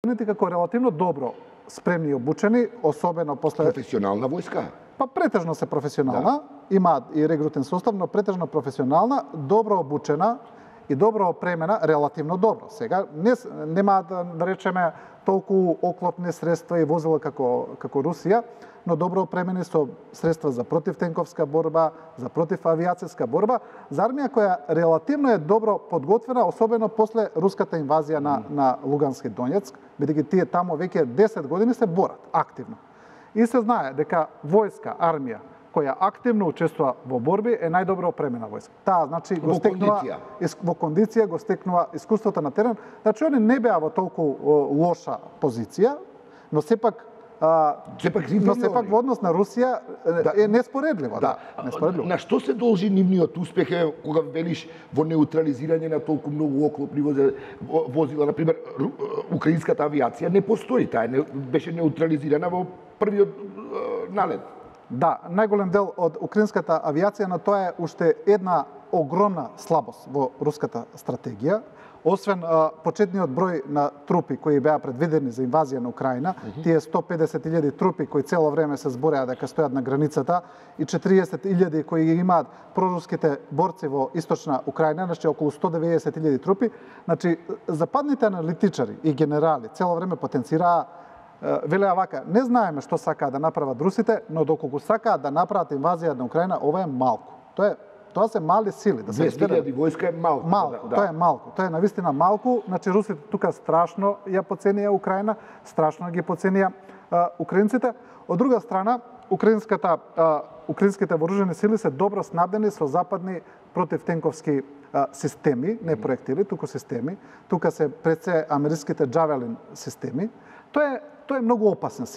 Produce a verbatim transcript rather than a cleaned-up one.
како релативно добро спремни и обучени, особено после професионална војска. Па претежно се професионална, да. Имаат и регрутен состав, но претежно професионална, добро обучена и добро опремена, релативно добро. Сега не немаат да речеме толку оклопни средства и возила како како Русија, но добро опремени со средства за противтенковска борба, за противавијацијска борба, за армија која релативно е добро подготвена, особено после руската инвазија на на Лугански и Донецк, бидејќи тие таму веќе десет години се борат активно. И се знае дека војска, армија која активно учествува во борби е најдобро опремена војска. Таа значи го стекнува во кондиција, го стекнува искуството на терен. Значи они не беа во толку лоша позиција, но сепак а, сепак но сепак во однос на Русија да, е неспоредливо, да. да неспоредливо. На што се должи нивниот успех кога велиш во неутрализирање на толку многу оклопни возила, на пример украинската авиација не постои, таа не беше неутрализирана во првиот налет. Да, најголем дел од украинската авиација, на тоа е уште една огромна слабост во руската стратегија. Освен а, почетниот број на трупи кои беа предвидени за инвазија на Украина, uh -huh. тие сто педесет илјади трупи кои цело време се збореа дека стојат на границата и четириесет илјади кои имаат проруските борци во источна Украина, значи околу сто деветдесет илјади трупи, значи западните аналитичари и генерали цело време потенцираа, велеа вака, не знаеме што сакаат да направат русите, но доколку сакаат да направат инвазија на Украина, ова е малку. Тоа е Тоа се мали сили, да се двесте илјади војска е малку. Малку, да, тоа е малку. Тоа е навистина малку, значи русите тука страшно ја поценија Украина, страшно ги поценија а, украинците. Од друга страна, украинската а, украинските вооружени сили се добро снабдени со западни противтенковски а, системи, не проектили, туку системи. Тука се пред се америкските Джавелин системи. Тоа е тоа е многу опасен систем.